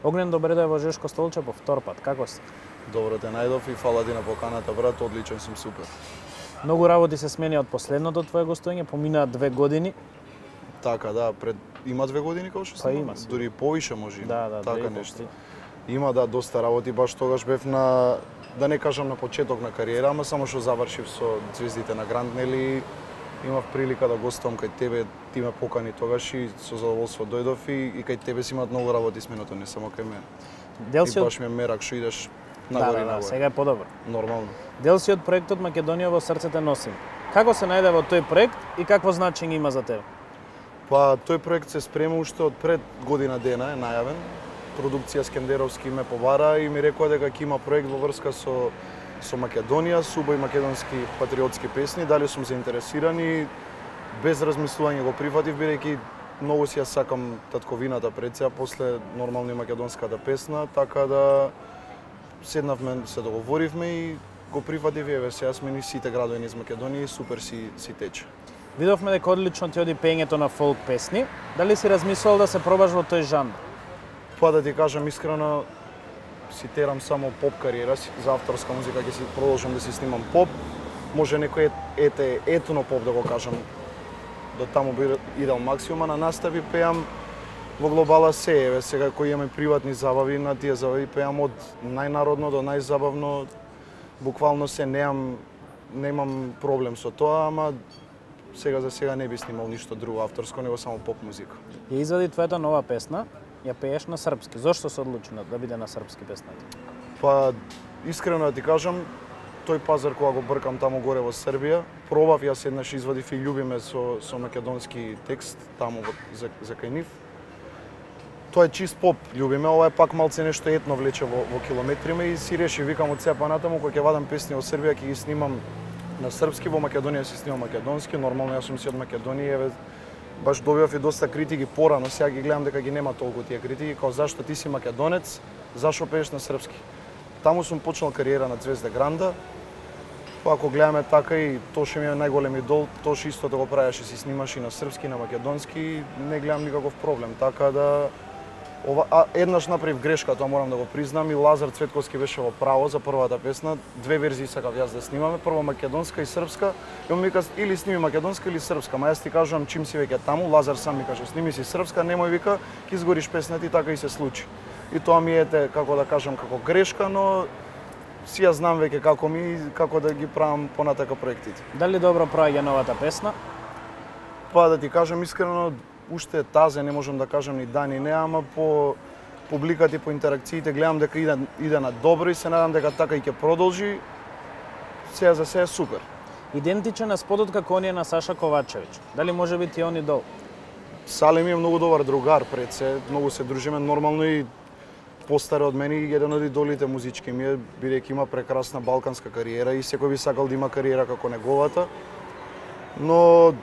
Огнен, добре да е во Жешко Столче по втор пат. Како си? Добро те најдов и фала ти на поканата, брат, одличен сум, супер. Многу работи се смени од последното твое гостоње, поминаа 2 години. Така, да, има 2 години како што Па снима? има, сигурно. Дури повише може има, Да, така нешто. Има, да, доста работи, баш тогаш бев на, да не кажам на почеток на кариера, ама само што завршив со Звездите на Гранд, нели, имав прилика да гостувам кај тебе, ти ме покани тогаш и со задоволство дојдов и кај тебе си имаат многу работи сменото, не само кај мене. Дел И си баш ми е мерак што идеш нагоре и нагоре. сега е подобро. Нормално. Дел си од проектот Македонија во срцете носим. Како се најде во тој проект и какво значење има за тебе? Па, тој проект се спрема уште од пред година дена, е најавен. Продукција Скендеровски ме побара и ми рекоа дека ќе има проект во врска со Македонија, со убави македонски патриотски песни. Дали сум заинтересиран и без размислување го прифатив, бидејќи многу си ја сакам татковината пред сега, после нормално и македонската песна, така да седнавме, се договоривме и го прифатив и еве сега сме ни сите градови низ Македонија и супер си тече. Видовме дека одлично ти оди пеењето на фолк песни. Дали си размислувал да се пробаш во тој жанр? Па да ти кажам искрено, си терам само поп кариера, за авторска музика ќе си продолжам да си снимам поп. Може некој етно поп да го кажам, до таму би идел максимум, а на настави пеам во глобала се, еве сега кои имаме приватни забави, на тие забави пеам од најнародно до најзабавно, буквално се немам проблем со тоа, ама сега за сега не би снимал ништо друго авторско, него само поп музика. Ја извади твојата нова песна, ја пееш на српски. Зошто се одлучи да биде на српски песната? Па, искрено да ти кажам, тој пазар кога го бркам таму горе во Србија, пробав, јас еднаш извадив и љубиме со македонски текст таму за кај нив. Тоа е чист поп, љубиме, ова е пак малце нешто етно влече во километриме и си реши, викам од сега па натаму, кога ќе вадам песни во Србија, ќе ги снимам на српски, во Македонија си снимам македонски, нормално јас сум си од Македонија, еве баш добивав и доста критики порано, сега ги гледам дека ги нема толку тие критики, као зашто ти си македонец, зашо пееш на српски. Таму сум почнал кариера на Звезда Гранда, па ако гледаме така и Тоше ми е најголем идол, Тоше истото го правеше, си снимаше и на српски, и на македонски, не гледам никаков проблем, така да еднаш направив грешка, тоа морам да го признам, и Лазар Цветковски беше во право за првата песна. 2 верзии сакав јас да снимаме, прво македонска и српска. И он ми вика или сними македонска или српска, ма јас ти кажувам чим си веќе таму, Лазар сам ми каже сними си српска, немој вика, ќе изгориш песната и така и се случи. И тоа ми ете, како да кажам, како грешка, но си ја знам веќе како да ги правам понатака проектите. Дали добро проаѓа новата песна? Па да ти кажам искрено, уште тазе не можам да кажам ни да ни не, ама по публиката и по интеракциите гледам дека иде на добро и се надам дека така и ќе продолжи. Сега за сега е супер. Идентичен на спотот како оние на Саша Ковачевиќ. Дали може би ти он идол? Салим е многу добар другар пред се, многу се дружиме, нормално и постар од мене и еден од идолите музички ми е, бидејќи има прекрасна балканска кариера и секој би сакал да има кариера како неговата. Но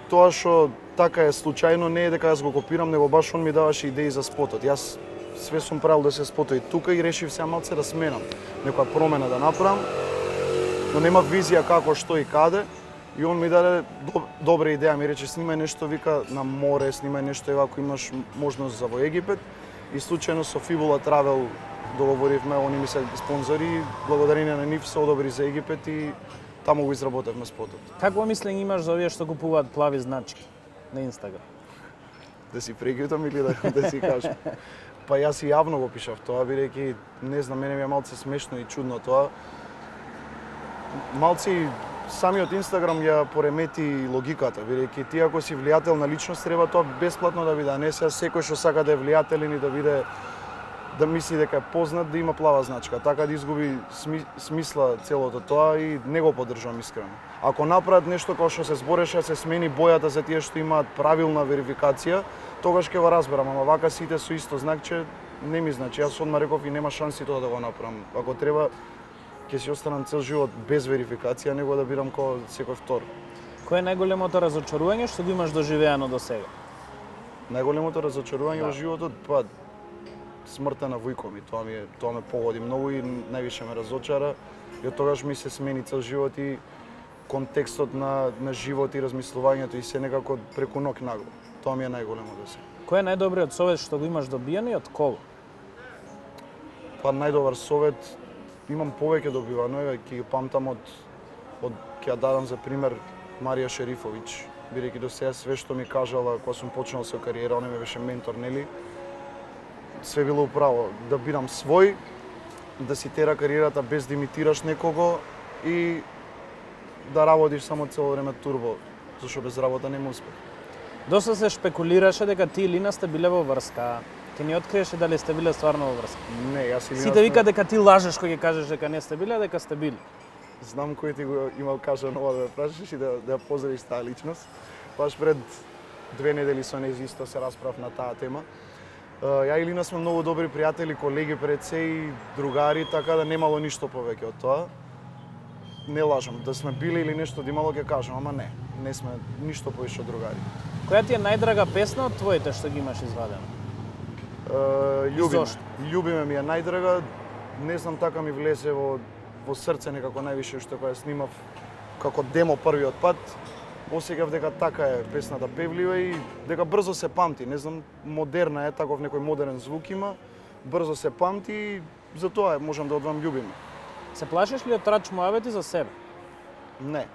тоа што така е случајно, не е дека јас го копирам, него баш он ми даваше идеи за спотот. Јас све сум правил да се спотои тука и решив сега малце да сменам, некоја промена да направам, но нема визија како, што и каде. И он ми даде добра идеја, ми рече снимај нешто, вика, на море, снимај нешто, ева, ако имаш можност за во Египет. И случајно со Fibula Travel договоривме, они ми се спонзори, благодарение на нив се одобри за Египет и таму го изработевме спотот. Какво мислење имаш за овие што купуваат плави значки на Инстаграм? Да си прегютам или да си кажам? Па јас и јавно го пишав тоа, бидејќи не знам, мене ми е малце смешно и чудно тоа. Малце самиот Инстаграм ја поремети логиката, бидејќи ти ако си влијателна личност треба тоа бесплатно да биде, а не сега секој што сака да е влијателен и да биде да мисли дека е познат да има плава значка, така да изгуби смисла целото тоа и не го поддржувам искрено. Ако направат нешто како што се збореше, се смени бојата за тие што имаат правилна верификација, тогаш ќе го разберам, ама вака сите со исто знакче не ми значи. Јас одма реков и нема шанси тоа да го направам. Ако треба ќе си останам цел живот без верификација, него да бирам како секој втор. Кој е најголемото разочарување што го имаш доживеано до сега? Најголемото разочарување во животот, па смртта на вујко ми, тоа ме погоди многу и највише ме разочара. И од тогаш ми се смени цел живот и контекстот на живот и размислувањето и се некако преку ног нагло. Тоа ми е најголемо до сега. Кој е најдобриот совет што го имаш добиено и од кого? Па најдобар совет имам повеќе добивано, ќе ги памтам од ќе ја дадам за пример Марија Шерифовиќ, бидејќи до сега све што ми кажала кога сум почнал со кариера, она ми беше ментор, нели? Све било управо, да бидам свој, да си тера кариерата без да имитираш некого и да работиш само цело време турбо, зашто без работа нема успех. Доста се шпекулираше дека ти и Лина сте биле во врска. Ти не откриеше дали сте биле стварно во врска? Не, јас и Лина Сите вика дека ти лажеш кога ќе кажеш дека не сте биле, а дека сте биле. Знам кој ти го имал кажано ова да ме прашаш и да ја поздравиш таа личност. Баш пред 2 недели со нејз исто се расправ на таа тема. Ја и Лина сме многу добри пријатели, колеги пред се и другари, така да немало ништо повеќе од тоа. Не лажам, да сме били или нешто да имало ќе кажам, ама не сме ништо повеќе од другари. Која ти е најдрага песна од твоите што ги имаш извадено? Љубиме ми е најдрага, не знам, така ми влезе во срце некако највише што кога ја снимав како демо првиот пат. Осеќав дека така е песната певлива и дека брзо се памти, не знам, модерна е, таков некој модерен звук има, брзо се памти и затоа можам да одвам љубиме. Се плашиш ли од трач муавети за себе? Не.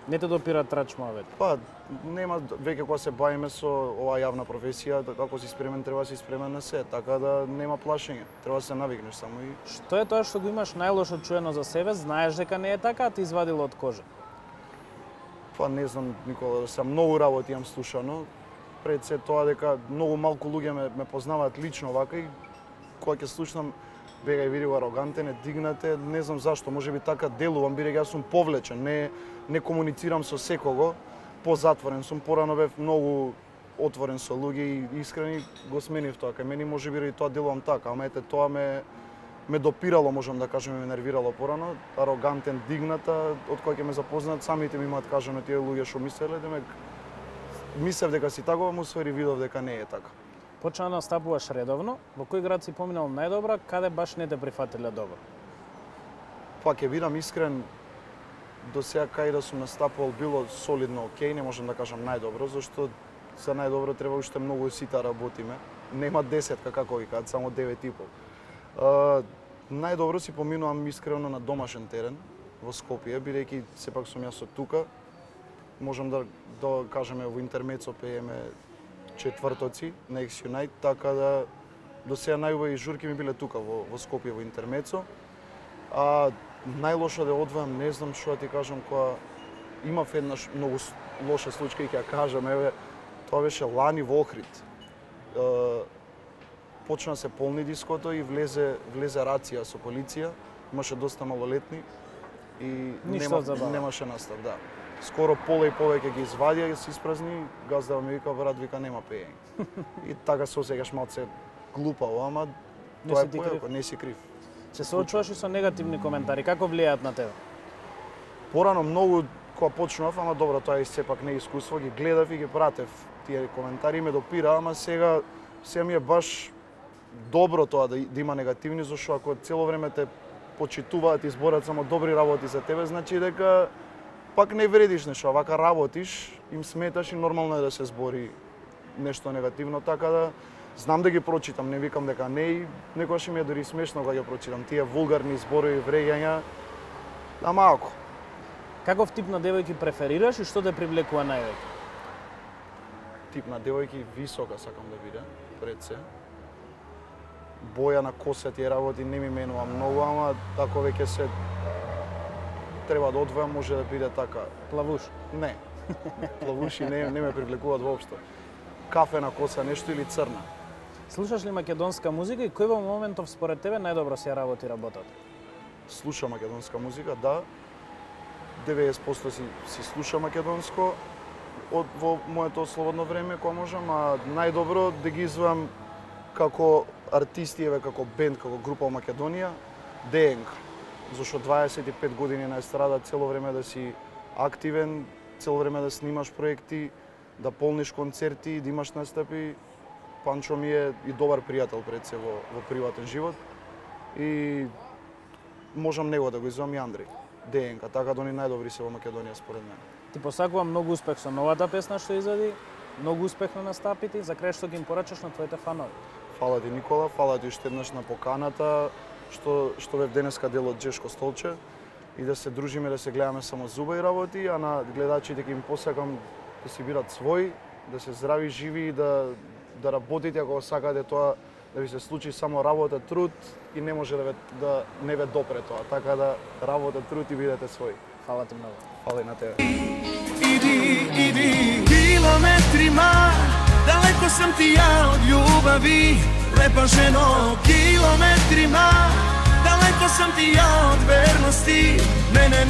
Не те допира трач муавети? Па, нема, веќе кога се бавиме со оваа јавна професија, како си спремен, треба да си спремен на се, така да нема плашење, треба да се навикнеш само и... Што е тоа што го имаш најлошо чуено за себе, знаеш дека не е така, а ти извадило од кожа? Па не знам, Никола, да сам многу работи имам слушано, пред се тоа дека многу малку луѓе ме познаваат лично вака и кога ќе слушнам бега и види арогантен, дигнате, не знам зашто, можеби така делувам, бидејќи јас сум повлечен, не комуницирам со секого, позатворен сум, порано бев многу отворен со луѓе и искрени го сменив тоа, кај мене можеби и тоа делувам така, ама ете тоа ме допирало, можам да кажем, ме нервирало порано, арогантен, дигната, од кој ќе ме запознаат, самите ми имаат кажано тие луѓе што мислеле, демек мислев дека си такова, му свери видов дека не е така. Почна да настапуваш редовно, во кој град си поминал најдобро, каде баш не те прифатиле добро? Па ќе бидам искрен, до сега кај да сум настапувал било солидно окей, не можам да кажам најдобро, зашто за најдобро треба уште многу сита работиме. Нема 10 како ги кажат, само 9,5. Најдобро си поминувам искрено на домашен терен во Скопје, бидејќи сепак сум јас од тука. Можам да кажеме во интермецо пееме четвртоци на X Unite, така да до сега најубави журки ми биле тука во Скопје во интермецо. А најлошо да одвојам, не знам што да ти кажам, кога имав еднаш многу лоша случка и ќе ја кажам, еве, тоа беше лани во Охрид. Почна се полни диското и влезе рација со полиција, имаше доста малолетни и немаше настав, да. Скоро пола и повеќе ги извадија и се испразни, газдава ми вика, брат, вика, нема пеење. И така се осеќаш малце глупаво, ама тоа е појако, не си крив. Се соочуваш и со негативни коментари, како влијаат на тебе? Порано многу кога почнував, ама добро, тоа е сепак не искуство, ги гледав и ги пратев тие коментари, ме допира, ама сега ми е баш добро тоа да има негативни, зашто ако цело време те почитуваат и зборат само добри работи за тебе, значи дека пак не вредиш нешто, вака работиш, им сметаш и нормално е да се збори нешто негативно, така да знам да ги прочитам, не викам дека не и некогаш ми е дори смешно кога ги прочитам тие вулгарни зборови, вреѓања, а малку. Каков тип на девојки преферираш и што те привлекува највеќе? Тип на девојки висока сакам да биде, пред се. Боја на коса тие работи не ми менува многу, ама ако веќе се треба да одвојам, може да биде така. Плавуш? Не. Плавуши не ме привлекуваат воопшто. Кафена коса нешто или црна. Слушаш ли македонска музика и кој во моментов според тебе најдобро си ја работи работата? Слушам македонска музика, да. 90% си слушам македонско во моето слободно време кога можам, а најдобро да ги извам како артисти, еве како бенд, како група во Македонија, ДНК. Зашто 25 години на естрада, цело време да си активен, цело време да снимаш проекти, да полниш концерти, да имаш настапи. Панчо ми е и добар пријател пред се во приватен живот. И можам него да го извам и Андреј, ДНК, така да они најдобри се во Македонија според мене. Ти посакувам многу успех со новата песна што извади, многу успех на настапите, за крај што ги им порачаш на твоите фанови. Фала ти, Никола, фала ти уште еднаш на поканата, што бев денеска дел од Жешко столче и да се дружиме, да се гледаме само зуба и работи, а на гледачите ќе им посакам да си бират свој, да се здрави, живи и да работите ако сакате тоа да ви се случи само работа, труд и не може да не ве допре тоа, така да работа, труд и бидете свој. Фала ти многу. Фала и на тебе. Иди, километрима, далеко сам ти ја од љубави, лепа жено, километрима, далеко сам ти ја од верности, мене